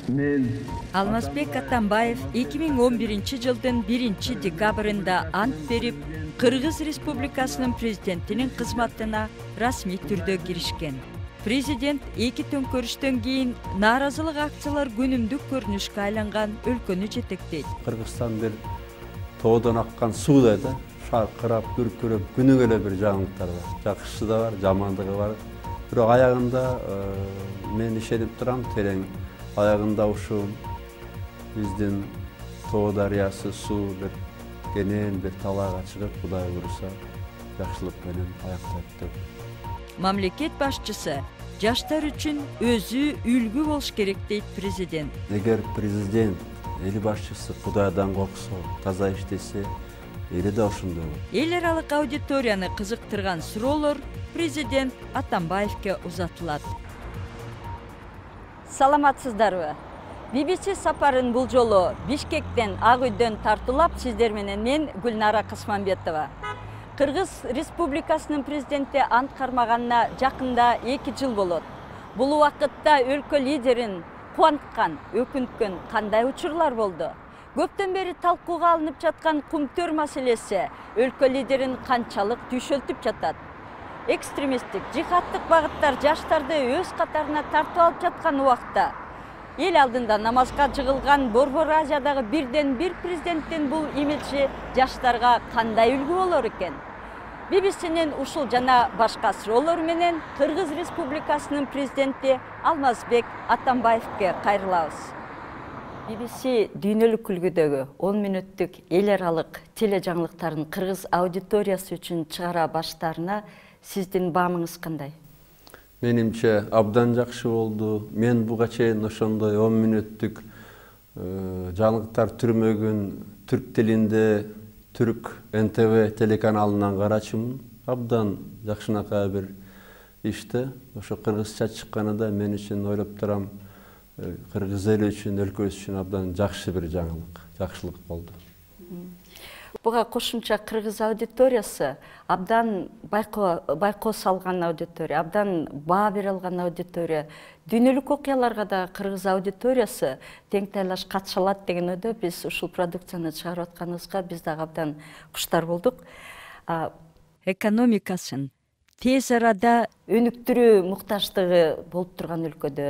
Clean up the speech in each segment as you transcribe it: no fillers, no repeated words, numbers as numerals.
мен Алмазбек Атамбаев 2011 жылдын 1 декабрында ант берип, Кыргыз Республикасынын президентинин кызматына расмий түрдө киришкен. Президент 2 төңкөрүштөн кийин нааразылык акциялар күнүмдүк көрүнүшкө айланган өлкөнү жетектейт. Кыргызстан бир тоодон аккан суудай да, шаркырап, күркүрөп, күнүгө эле бир жаңылыктар бар. Жакшысы да бар, жамандыгы бар. Бирок аягында мен ишенип турам, терең аягында ушу биздин Тоо дарыясы суу бир кенен бир талаага чыгып, Кудай буйруса, жакшылык менен аяктайт деп. Мамлекет башчысы жаштар үчүн өзү үлгү болуш керек дейт президент. Эгер президент, эл башчысы Кудайдан корксо, таза иштесе, эли да ошондой болот. Эл аралык аудиторияны кызыктырган суроолор президент Атамбаевке узатылат. Саламатсыздарбы? BBC сапарын бул жолу Бишкектен, Ак үйдөн тартуулап, сиздер менен мен Гүлнара Касманбетова. Кыргыз Республикасынын президенти ант кармаганына жакында 2 жыл болот. Бул убакытта өлкө лидерин кубанткан, өкүнткөн кандай учурлар болду? Көптөн бери талкууга алынып жаткан кумтөр маселеси өлкө лидерин канчалык түйшөлтүп жатат? Экстремисттик, жихадтык багыттар жаштарды өз катарына тартып алып жаткан убакта эл алдында намазга жыгылган Борбор Азиядагы бирден бир президенттин бул имиджи жаштарга кандай үлгү болор экен? BBC'нин ушул жана башка суроолору менен Кыргыз Республикасынын президенти Алмазбек Атамбаевке кайрылабыз. BBC дүйнөлүк үлгүдөгү 10 мүнөттүк эл аралык тележаңылыктардын кыргыз аудиториясы үчүн чыгара баштаарына сиздин баамыңыз кандай? Менимче абдан жакшы болду. Мен буга чейин ошондой 10 мүнөттүк жаңылыктар түрмөгүн түрк тилинде Түрк НТВ телеканалынан карачумун. Абдан жакшынакай бир ишти. Ошо кыргызча чыкканында мен үчүн ойлоп турам, кыргыз эли үчүн, өлкөбүз үчүн абдан жакшы бир жаңылык, жакшылык болду. Буга кошумча кыргыз аудиториясы абдан байкоо салган аудитория, абдан баа бере алган аудитория. Дүйнөлүк окуяларга да кыргыз аудиториясы тең тайлаш катыша алат деген ойдо биз ушул продукцияны чыгарып атканыбызга биз дагы абдан куштар болдук. Экономикасын тез арада өнүктүрүү муктаждыгы болуп турган өлкөдө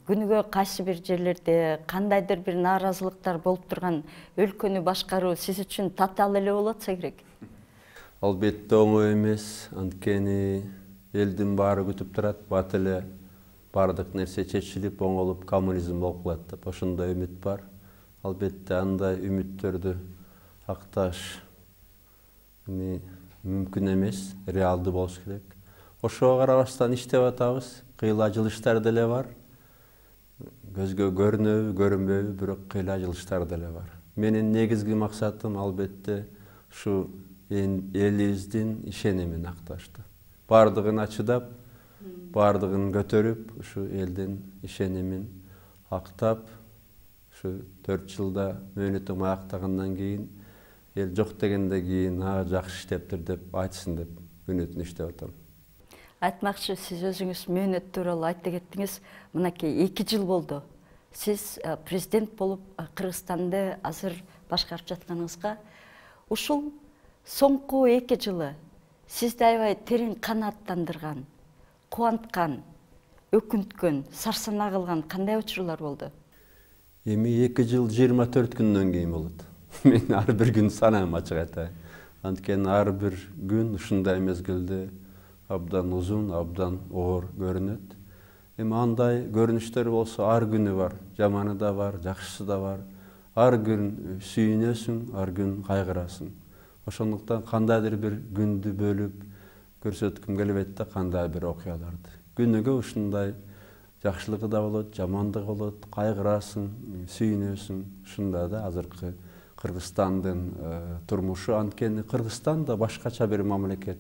күнүгө кайсы бир жерлерде кандайдыр бир нааразылыктар болуп турган өлкөнү башкаруу сиз үчүн татаал эле болуп атса керек? Албетте оңой эмес, анткени элдин баары күтүп турат, бат эле баардык нерсе чечилип, оңолуп, коммунизм болуп калат деп ошондой үмүт бар. Албетте андай үмүттөрдү акташ мүмкүн эмес, реалдуу болуш керек. Ошого карабастан иштеп атабыз, кыйла жылыштар деле бар. Көзгө көрүнөбү, көрүнбөйбү, бирок кыйла жылыштар деле бар. Менин негизги максатым албетте ушу элибиздин ишенимин акташты. Бардыгына чыдап, бардыгын көтөрүп, ушу элдин ишенимин актап, ушу 4 жылда мөөнөтүм аяктагандан кийин эл жок дегенде кийин жакшы иштептир деп айтсын деп үнөтүн иштеп атам. Айтмакчы, сиз өзүңүз мөөнөт тууралуу айтып кеттиңиз. Мынакей 2 жыл болду. Сиз президент болуп Кыргызстанды азыр башкарып жатканыңызга ушул соңку 2 жылы сизди аябай терең канааттандырган, кубанткан, өкүнткөн, сарсанаа кылган кандай учурлар болду? Эми 2 жыл 24 күндөн кийин болот. Мен ар бир күн санайм, ачык айтайын. Анткени ар бир күн ушундай мезгилде абдан узун, абдан оор көрүнөт. Эми андай көрүнүштөр болсо ар күнү бар, жаманы да бар, жакшысы да бар. Ар күн сүйүнөсүң, ар күн кайгырасың. Ошондуктан кандайдыр бир күндү бөлүп көрсөткүм келбейт да, кандай бир окуяларды. Күнүгө ушундай жакшылыгы да болот, жамандыгы болот, кайгырасың, сүйүнөсүң. Ушундай да азыркы Кыргызстандын турмушу. Анткени Кыргызстан да башкача бир мамлекет.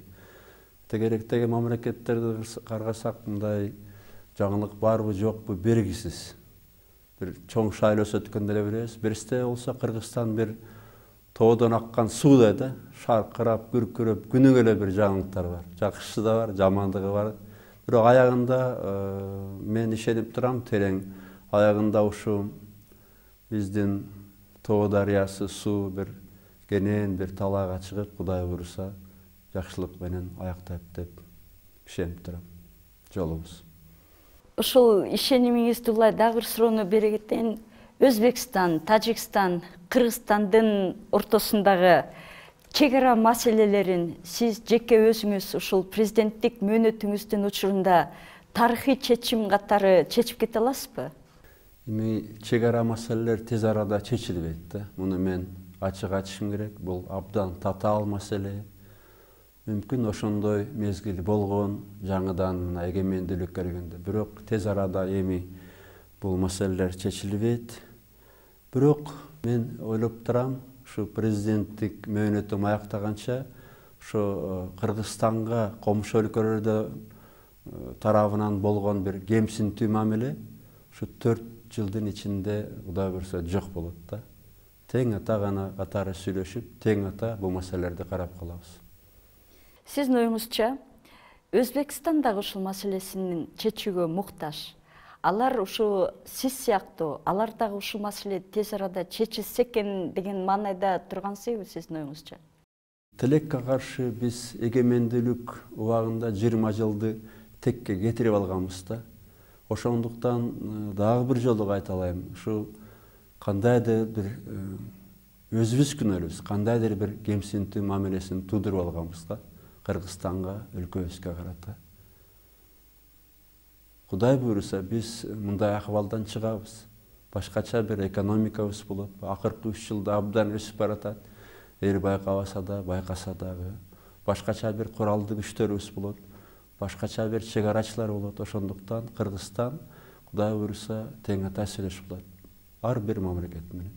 Тегеректеги мамлекеттерди карасак, мындай жаңылык барбы, жокпу белгисиз. Бир чоң шайлоос өткөндө эле билебиз. Биристе болсо Кыргызстан бир тоодон аккан суудай да, шаркырап, күркүрөп, күнүгө эле бир жаңылыктар бар. Жакшысы да бар, жамандыгы бар. Бирок аягында мен ишенип турам, терең аягында ушу биздин Тоо дарыясы суу бир кенен бир талаага чыгып, Кудай буйруса жакшылык менен аяктайт деп ишенип турам жолубуз. Ушул ишенимиңизди улай дагы бир суроону бере кетейин. Өзбекстан, Тажикстан, Кыргызстандын ортосундагы чек ара маселелерин сиз жеке өзүңүз ушул президенттик мөөнөтүңүздүн учурунда тарыхый чечим катары чечип кете аласызбы? Эми чек ара маселелер тез арада чечилбейт да. Муну мен ачык айтышым керек. Бул абдан татаал маселе. Мүмкүн ошондой мезгил болгон жаңыдан мына эгемендүүлүккө келгенде. Бирок тез арада эми бул маселелер чечилбейт. Бирок мен ойлоп турам, ушу президенттик мөөнөтүм аяктаганча ошо Кыргызстанга комшу өлкөлөрдө тарабынан болгон бир кемсинтүү мамиле ушу 4 жылдын ичинде Кудай буйруса жок болот да. Тең ата гана катары сүйлөшүп, тең ата бул маселелерди карап калабыз. Сиздин оюңузча, Өзбекстан дагы ушул маселесин чечүүгө муктаж. Алар ушу сиз сыяктуу, алар дагы ушул маселе тез арада чечилсе экен деген маанайда турган себеби сиздин оюңузча? Тилекке каршы биз эгемендүүлүк убагында 20 жылды текке кетирип алганбыз да. Ошондуктан дагы бир жолу айта алайм, ушу кандайдыр бир өзүбүз күнөөлүүбүз, кандайдыр бир кемсинтүү мамилесин туудуруп алганбыз да Кыргызстанга, өлкөбүзгө карата. Кудай буйруса биз мындай акыбалдан чыгабыз. Башкача бир экономикабыз болот. Акыркы 3 жылда абдан өсүп баратат. Эл байкабаса да, байкаса дагы. Башкача бир куралдуу күчтөрүбүз болот. Башкача бир чек арачылар болот. Ошондуктан Кыргызстан Кудай буйруса тең ата сүйлөшүп калат. Ар бир мамлекет менен.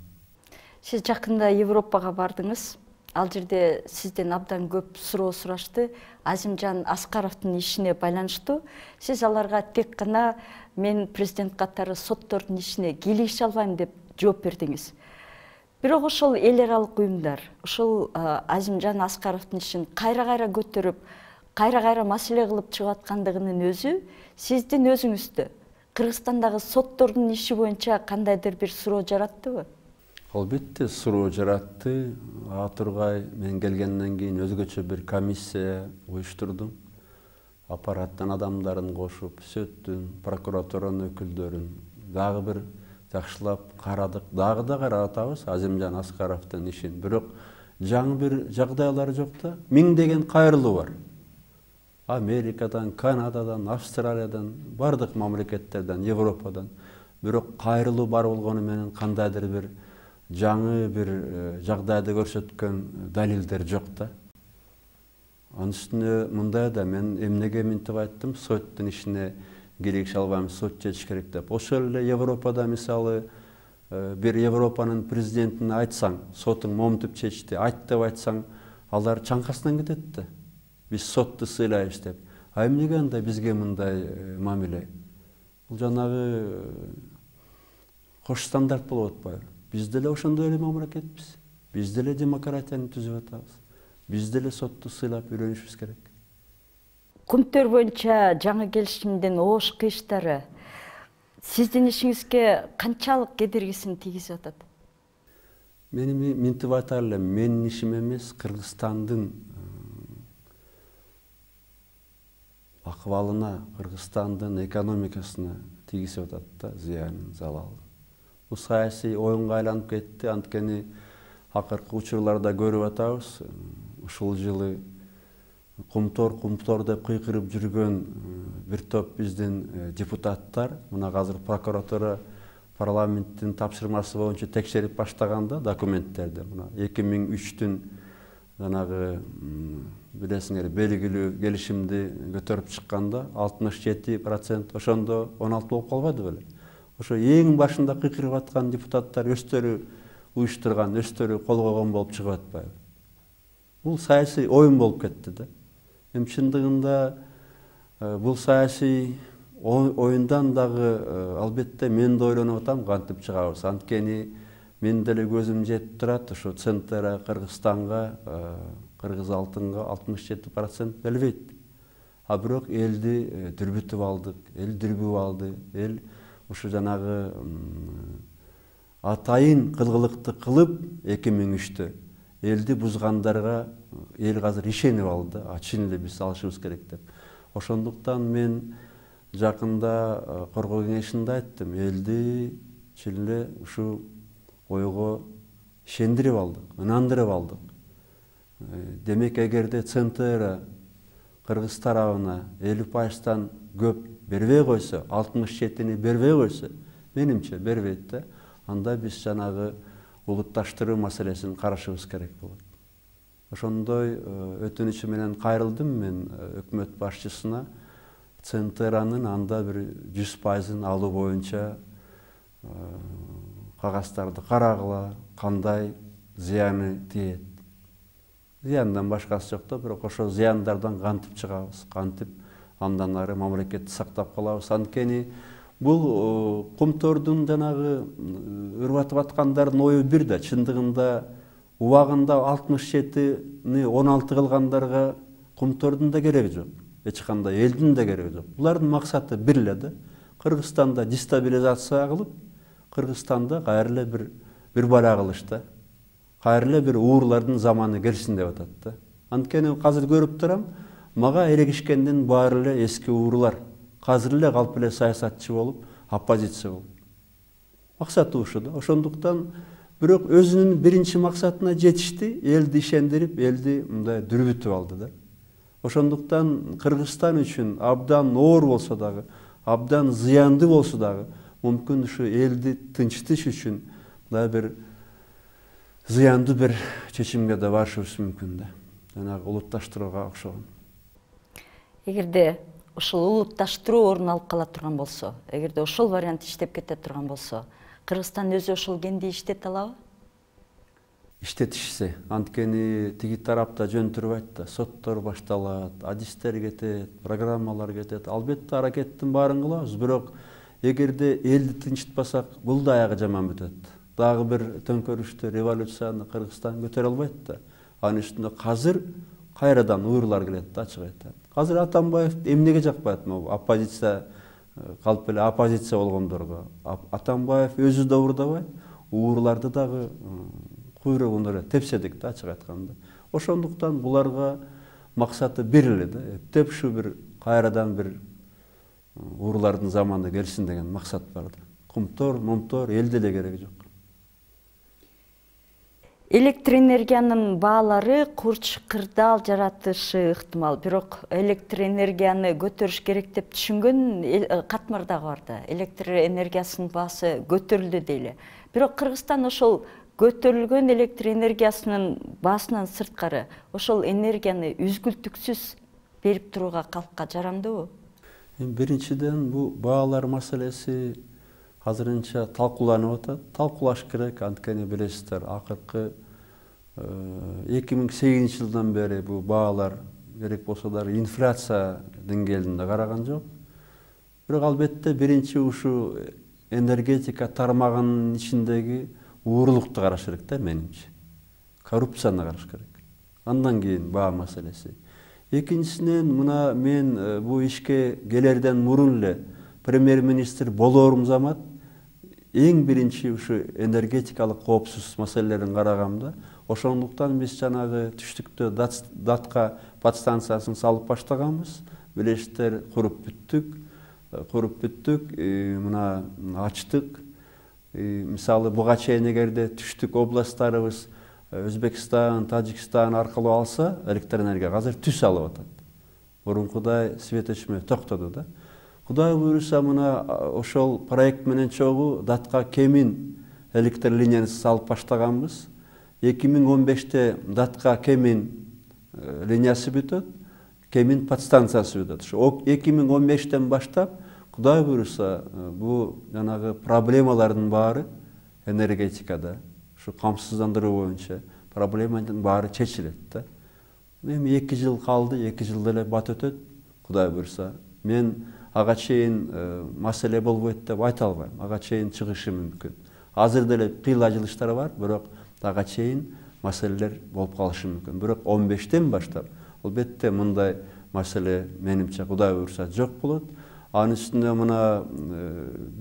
Сиз жакында Европага бардыңыз. Ал жерде сизден абдан көп суроо сурашты. Азимжан Аскаровдун ишине байланыштуу. Сиз аларга тек гана мен президент катары соттордун ишине кийлигише албайм деп жооп бердиңиз. Бирок ошол эл аралык уюмдар ушул Азимжан Аскаровдун ишин кайра-кайра көтөрүп, кайра-кайра маселе кылып чыгып аткандыгынын өзү сиздин өзүңүздө Кыргызстандагы соттордун иши боюнча кандайдыр бир суроо жараттыбы? Албетте суроо жаратты. Тургай мен келгенден кийин өзгөчө бир комиссия уюштурдум. Аппараттын адамдарын кошуп, сөттүн, прокуратуранын өкүлдөрүн дагы бир жакшылап карадык. Дагы да карап атабыз Азимжан Аскаровдун ишин. Бирок жаңы бир жагдайлар жок да. Миңдеген кайрылуу бар. Америкадан, Канададан, Австралиядан, бардык мамлекеттерден, Европадан. Бирок кайрылуу бар болгону менен кандайдыр бир жаңы бир жагдайды көрсөткөн далилдер жок да. Анын үстүнө мындай да мен эмнеге мынтип айттым, соттун ишине кийлигише албайм, сот чечиш керек деп. Ошол эле Европада мисалы бир Европанын президентине айтсаң, сотуң момнтип чечти, айт деп айтсаң, алар чаңкасынан кетет да. Биз сотту сыйлайбыз деп. Эмнеге анда бизге мындай мамиле? Бул жанагы кош стандарт болуп атпайбы? Биз деле ошондой эле мамлекетпиз. Биз деле демократияны түзүп атабыз. Биз деле сотту сыйлап үйрөнүшүбүз керек. Кумтөр боюнча жаңы келишимдин оош кыйыштары сиздин ишиңизге канчалык кедергисин тийгизип атат? Мен мынтип айта элем, менин ишим эмес, Кыргызстандын акыбалына, Кыргызстандын экономикасына тийгизип атат да зыянын, залалын. Бул саясий оюнга айланып кетти. Анткени акыркы учурларда көрүп атабыз. Ушул жылы кумтор деп кыйкырып жүргөн бир топ биздин депутаттар мына азыр прокуратура парламенттин тапшырмасы боюнча текшерип баштаганда документтерди мына 2003-түн жанагы билесиңер белгилүү келишимди көтөрүп чыкканда 67% ошондо 16 болуп калбады беле? Ошо эң башында кыйкырып аткан депутаттар өздөрү уюштурган, өздөрү кол койгон болуп чыгып атпайбы? Бул саясий оюн болуп кетти да. Эми чындыгында бул саясий оюндан дагы албетте мен да ойлонуп атам, кантип чыгабыз. Анткени мен деле көзүм жетип турат, ошо центра Кыргызстанга, кыргыз алтынга 67% келбейт. Бирок элди дүрбүтүп алдык, эл дүрбүп алды, эл ушу жанагы атайын кылгылыкты кылып 2003-тө элди бузгандарга эл азыр ишенип алды. Чын эле биз алышыбыз керек деп. Ошондуктан мен жакында коргоо кеңешинде айттым, элди чын эле ушу ойго ишендирип алдык, ынандырып алдык. Демек, эгерде ЦНТР Кыргыз тарабына 50%-тан көп бербей койсо, 67-ни бербей койсо, менимче бербейт да, анда биз жанагы улутташтыруу маселесин карашыбыз керек болот. Ошондой өтүнүчү менен кайрылдым мен өкмөт башчысына, ЦНТРнын анда бир 100%-ын алуу боюнча кагаздарды карагыла, кандай зыяны тиет. Зыяндан башкасы жок да, бирок ошол зыяндардан кантип чыгабыз, кантип андан ары мамлекетти сактап калабыз. Анткени бул кумтордун жанагы ырбатып аткандардын ою бир да, чындыгында убагында 67-ни 16 кылгандарга кумтордун да кереги жок, эч кандай элдин да кереги жок. Булардын максаты бир эле да, Кыргызстанда дестабилизация кылып, Кыргызстанда кайра эле бир бара кылыш да. Кайра эле бир уурлардын заманы келсин деп атат да. Анткени азыр көрүп турам, мага эрегишкендин баары эле эски уурлар. Азыр эле калп эле саясатчы болуп, оппозиция болуп. Максаты ушу да. Ошондуктан бирок өзүнүн биринчи максатына жетишти, элди ишендирип, элди мындай дүрбүтүп алды да. Ошондуктан Кыргызстан үчүн абдан оор болсо дагы, абдан зыяндуу болсо дагы, мүмкүн ушу элди тынчтыш үчүн мындай бир зыяндуу бир чечимге да барышыбыз мүмкүн да. Жанагы улутташтырууга окшогон. Эгерде ушул улутташтыруу орун алып кала турган болсо, эгерде ошол вариант иштеп кете турган болсо, Кыргызстан өзү ошол кенди иштете алабы? Иштетишсе, анткени тиги тарапта жөн турбайт да, соттор башталат, адистер кетет, программалар кетет. Албетте аракеттин баарын кылабыз, бирок эгерде элди тынчытпасак, бул да аягы жаман бүтөт. Дагы бир төңкөрүштү, революцияны Кыргызстан көтөрө албайт да. Анын үстүндө азыр кайрадан уурлар келет да, ачык айтат. Азыр Атамбаев эмнеге жакпайт, оппозиция калп эле оппозиция болгондорго. Атамбаев өзү да уурдабайт, уурларды дагы куйругун эле тепседик да, ачык айтканда. Ошондуктан буларга максаты бир эле да, эптеп ушу бир кайрадан бир уурлардын заманы келсин деген максат бар да. Кумтор, момтор элде эле кереги жок. Электр энергиянын баалары курч кырдаал жаратышы ыктымал, бирок электр энергияны көтөрүш керек деп түшүнгөн катмар дагы бар да. Электр энергиясынын баасы көтөрүлдү дейли. Бирок Кыргызстан ошол көтөрүлгөн электр энергиясынын баасынан сырткары ошол энергияны үзгүлтүксүз берип турууга калкка жарамдыбы? Биринчиден, бул баалар маселеси азырынча талкууланып атат. Талкуулаш керек, анткени билесиздер, акыркы 2008 жылдан бери бул баалар керек болсо дагы инфляция деңгээлинде караган жок. Бирок албетте биринчи ушу энергетика тармагынын ичиндеги уурулукту караш керек да, менимче. Коррупцияны караш керек. Андан кийин баа маселеси. Экинчисинен, мына мен бул ишке келерден мурун эле премьер-министр болоорум замат эң биринчи ушу энергетикалык коопсуз маселелерин карагам да. Ошондуктан биз жанагы түштүктө датка подстанциясын салып баштаганбыз. Билесиздер, куруп бүттүк, мына ачтык. Мисалы, буга чейин эгерде түштүк областтарыбыз Өзбекстан, Тажикстан аркылуу алса, электр энергия азыр түз алып атат. Мурункудай свет өчмө токтоду да. Кудай буйруса, мына ошол проект менен чогуу датка Кемин электр линиясын салып баштаганбыз. 2015-те датка Кемин линиясы бүтөт, Кемин подстанциясы бүтөт. Ошо 2015-тен баштап, Кудай буйруса, бул жанагы проблемалардын баары энергетикада, ушу камсыздандыруу боюнча проблеманын баары чечилет да. Эми 2 жыл калды, 2 жылда эле бат өтөт, Кудай буйруса. Мен ага чейин маселе болбойт деп айта албайм. Ага чейин чыгышы мүмкүн. Азыр деле кыйла жылыштар бар, бирок ага чейин маселелер болуп калышы мүмкүн. Бирок 15-тен баштап албетте мындай маселе менимче Кудай буйруса жок болот. Анын үстүнө мына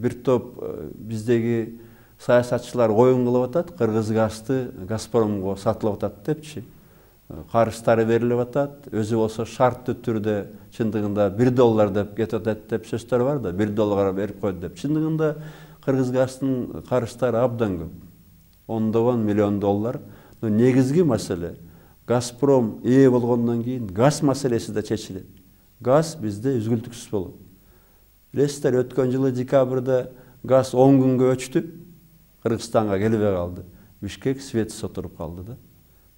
бир топ биздеги саясатчылар оюн кылып атат, Кыргыз газды Газпромго сатылып атат депчи. Карыздары берилип атат, өзү болсо шарттуу түрдө чындыгында $1 деп кетип атат деп сөздөр бар да, $1 берип койду деп. Чындыгында Кыргыз газдын карыздары абдан көп. $10 миллион. Но негизги маселе Газпром ээ болгондон кийин газ маселеси да чечилет. Газ бизде үзгүлтүксүз болот. Билесиздер, өткөн жылы декабрда газ 10 күнгө өчтү. Кыргызстанга келбей калды. Бишкек светсиз отуруп калды да.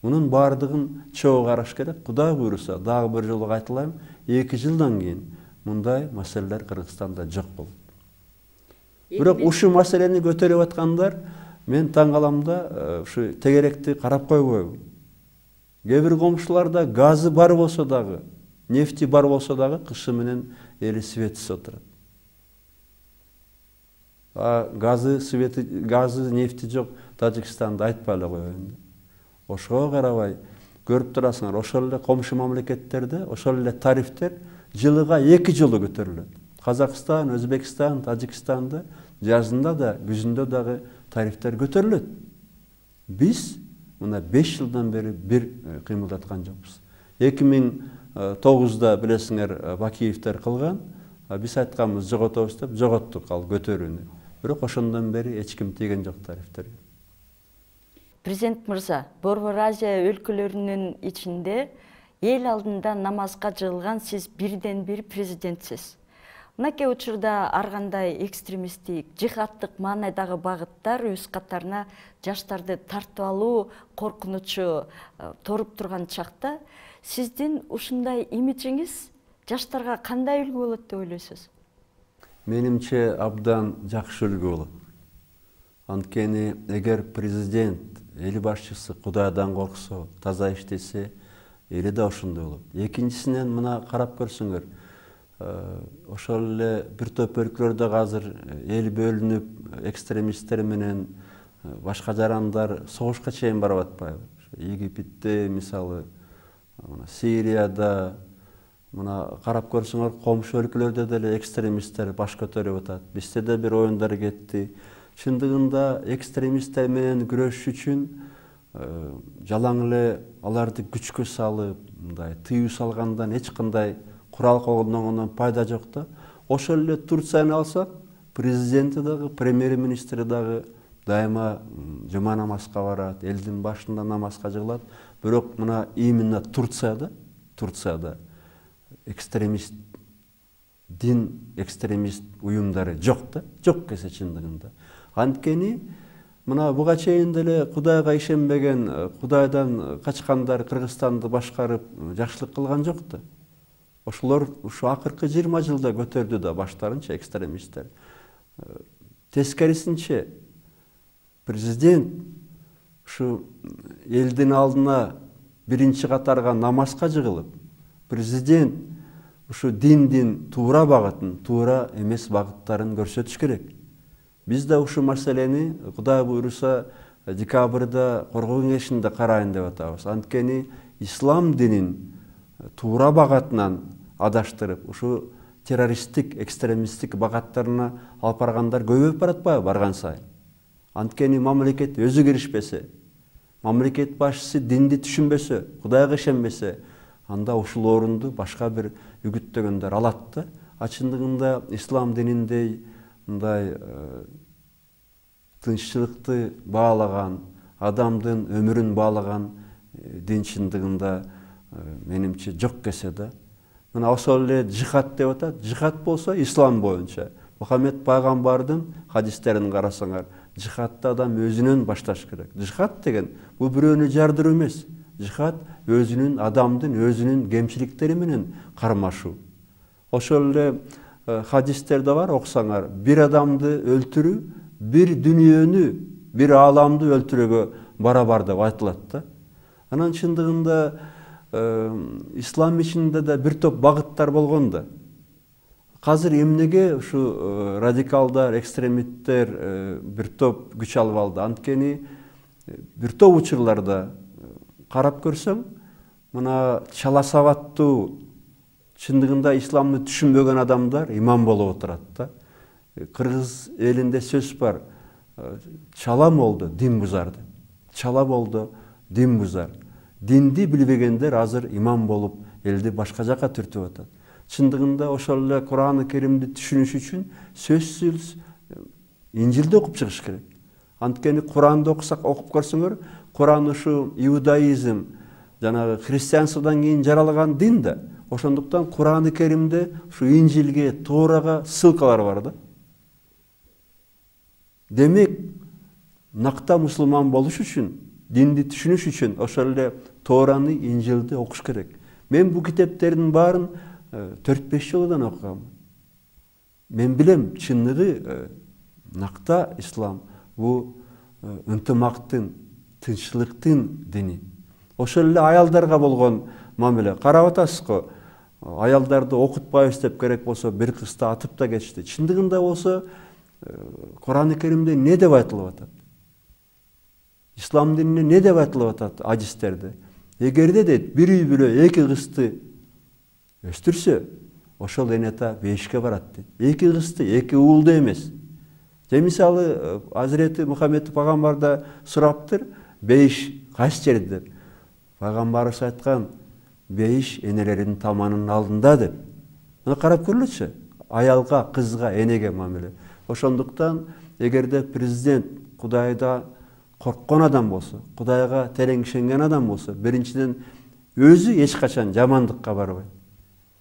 Мунун бардыгын чогуу караш керек. Кудай буйруса, дагы бир жолу айтылайм, 2 жылдан кийин мындай маселелер Кыргызстанда жок болот. Бирок ушу маселени көтөрүп аткандар мен таң калам да, ушу тегеректи карап койбойбу. Кээ бир комшуларда газы бар болсо дагы, нефти бар болсо дагы кышы менен эли светсиз отурат. Газы, нефти жок Тажикстанда айтпай эле коеюн. Ошого карабай көрүп турасыңар, ошол эле комшу мамлекеттерде ошол эле тарифтер жылыга 2 жолу көтөрүлөт. Казакстан, Өзбекстан, Тажикстанда жазында да, күзүндө дагы тарифтер көтөрүлөт. Биз мына 5 жылдан бери бир кыймылдаткан жокпуз. 2009-да билесиңер Бакиевдер кылган, биз айтканбыз жоготобуз деп, жоготтук ал көтөрүүнү. Бирок ошондон бери эч ким тийген жок тарифтерге. Президент мырза, Борбор Азия өлкөлөрүнүн ичинде эл алдында намазга жыгылган сиз бирден бир президентсиз. Мынакей учурда ар кандай экстремисттик, жихадтык маанайдагы багыттар өз катарына жаштарды тартып алуу коркунучу торуп турган чакта, сиздин ушундай имиджиңиз жаштарга кандай үлгү болот деп ойлойсуз? Менимче абдан жакшы үлгү болот. Анткени эгер президент, эл башчысы Кудайдан корксо, таза иштесе, эли да ошондой болот. Экинчисинен мына карап көрсөңөр, ошол эле бир топ өлкөлөрдө азыр эл бөлүнүп, экстремисттер менен башка жарандар согушка чейин барып атпайбы? Египетте, мисалы, Сирияда, мына карап көрсөңөр, комшу өлкөлөрдө деле экстремисттер баш көтөрүп атат. Бизде да бир оюндар кетти. Чындыгында экстремисттер менен күрөшүш үчүн жалаң эле аларды күчкө салып, мындай тыюу салгандан эч кандай курал колдонгондон пайда жок да. Ошол эле Турцияны алсак, президенти дагы, премьер-министри дагы дайыма жума намазга барат, элдин башында намазга жыгылат. Бирок мына именно Турцияда экстремист, дин экстремист уюмдары жок да, жок кесе чындыгында. Анткени мына буга чейин деле Кудайга ишенбеген, Кудайдан качкандар Кыргызстанды башкарып жакшылык кылган жок да. Ошолор ушу акыркы 20 жылда көтөрдү да баштарынча экстремисттер. Тескерисинче президент ушу элдин алдына биринчи катарга намазга жыгылып, президент ушу диндин туура багытын, туура эмес багыттарын көрсөтүш керек. Биз да ушу маселени Кудай буйруса декабрда коргоо кеңешинде карайын деп атабыз. Анткени ислам динин туура багатынан адаштырып, ушу террористтик, экстремисттик багаттарына алып баргандар көбөйүп баратпайбы барган сайын. Анткени мамлекет өзү киришпесе, мамлекет башчысы динди түшүнбөсө, Кудайга ишенбесе, анда ушул орунду башка бир үгүттөгөндөр алат да. Чындыгында ислам дининдей мындай тынччылыкты баалаган, адамдын өмүрүн баалаган дин чындыгында менимче жок кесе да. Мына ошол эле жихад деп атат. Жихад болсо ислам боюнча. Мухаммед пайгамбардын хадистерин карасаңар, жихадты адам өзүнөн башташ керек. Жихад деген бул бирөөнү жардыруу эмес. Жихад өзүнүн, адамдын өзүнүн кемчиликтери менен кармашуу. Ошол эле хадистерде бар, окусаңар, бир адамды өлтүрүү, бир дүнүйөнү, бир ааламды өлтүрүүгө барабар деп айтылат да. Анан чындыгында ислам ичинде да бир топ багыттар болгон да. Азыр эмнеге ушу радикалдар, экстремисттер бир топ күч алып алды? Анткени бир топ учурларда карап көрсөң, мына чала сабаттуу, чындыгында исламды түшүнбөгөн адамдар имам болуп отурат да. Кыргыз элинде сөз бар. Чала болду дин бузарды. Чала болду дин бузар. Динди билбегендер азыр имам болуп элди башка жака түртүп атат. Чындыгында ошол эле Кур'ан-ы Керимди түшүнүш үчүн сөзсүз Инжилди окуп чыгыш керек. Анткени Куранды окусак, окуп көрсөңөр, Куран ушу иудаизм, жанагы христианстводан кийин жаралган дин да. Ошондуктан Кур'ан-ы Керимде ушу Инжилге, Тоорага ссылкалар бар да. Демек, накта мусулман болуш үчүн, динди түшүнүш үчүн ошол эле Тоораны, Инжилди окуш керек. Мен бул китептердин баарын 4-5 жылдан окугам. Мен билем, чындыгы накта ислам бул ынтымактын, тынччылыктын дини. Ошол эле аялдарга болгон мамиле. Карап атасыз го, аялдарды окутпайбыз деп керек болсо бир кызды атып да кетишти. Чындыгында болсо Кур'ан-ы Керимде не деп айтылып атат? Ислам дининде не деп айтылып атат адистерде? Эгерде дейт, бир үй бүлө эки кызды өстүрсө, ошол энета бейишке барат дейт. Эки кызды, эки уулду эмес. Же мисалы Азирети Мухаммед пайгамбарда сураптыр, бейиш кайсы жерде деп. Пайгамбарыбыз айткан, бейиш энелердин таманынын алдында деп. Мына карап көрүлөчү, аялга, кызга, энеге мамиле. Ошондуктан эгерде президент Кудайда корккон адам болсо, Кудайга терең ишенген адам болсо, биринчиден өзү эч качан жамандыкка барбайт.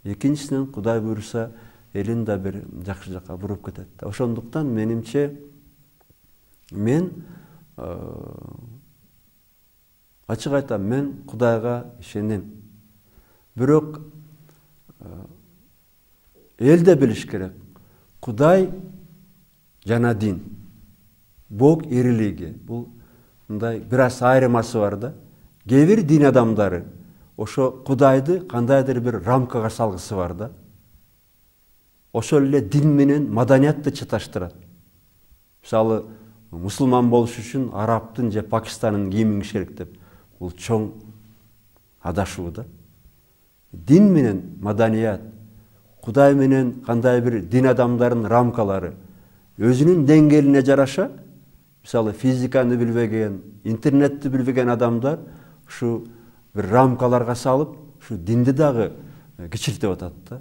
Экинчисинен Кудай буйруса элин да бир жакшы жакка буруп кетет. Ошондуктан менимче мен ачык айтам, мен Кудайга ишенем. Бирок эл да билиш керек. Кудай жана дин, Бог и религия. Бул мындай бир аз айырмасы бар да. Кээ бир дин адамдары ошо Кудайды кандайдыр бир рамкага салгысы бар да. Ошол эле дин менен маданиятты чаташтырат. Мисалы, мусулман болуш үчүн арабтын же Пакистанын кийимин кийиш керек деп. Бул чоң адашуу да. Дин менен маданият, Кудай менен кандай бир дин адамдарынын рамкалары өзүнүн деңгээлине жараша, мисалы физиканы билбеген, интернетти билбеген адамдар ушу бир рамкаларга салып, ушу динди дагы кичилтип атат да.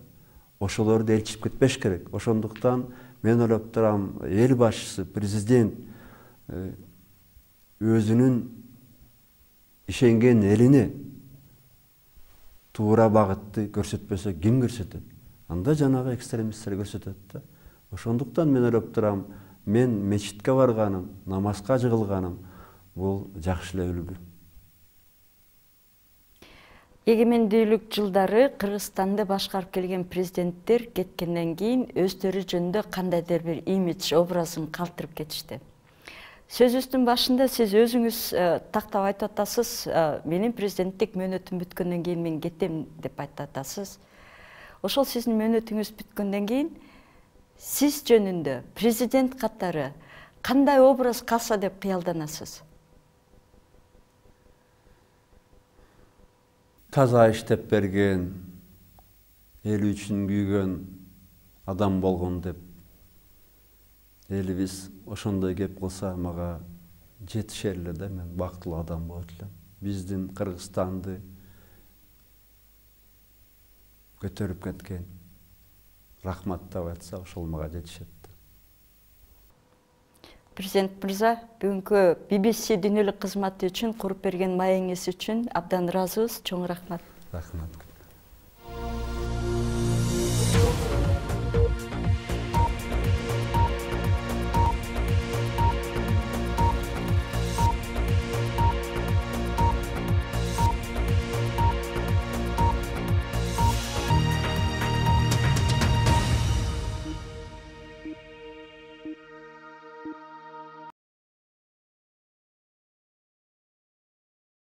Ошолорду элчип кетпеш керек. Ошондуктан мен ойлоп турам, эл башчысы, президент өзүнүн ишенген элине туура багытты көрсөтпөсө ким көрсөтөт? Анда жанагы экстремисттер көрсөтөт да. Ошондуктан мен ойлоп турам, мен мечитке барганым, намазга жыгылганым бул жакшы эле үлгү. Эгемендүүлүк жылдары Кыргызстанды башкарып келген президенттер кеткенден кийин өздөрү жөнүндө кандайдыр бир имидж образын калтырып кетишти. Сөзүбүздүн башында сиз өзүңүз тактап айтып атасыз, менин президенттик мөөнөтүм бүткөндөн кийин мен кетем деп айтып атасыз. Ошол сиздин мөөнөтүңүз бүткөндөн кийин сиз жөнүндө президент катары кандай образ калса деп кыялданасыз? Таза иштеп берген, эли үчүн күйгөн адам болгон деп элибиз ошондой кеп кылса мага жетишер эле да, мен бактылуу адам болот элем. Биздин Кыргызстанды көтөрүп кеткен, рахматтап айтса ошол мага жетишет. Президент мырза, бүгүнкү BBC дүйнөлүк кызматы үчүн куруп берген маегиңиз үчүн абдан ыраазыбыз. Чоң рахмат. Рахмат.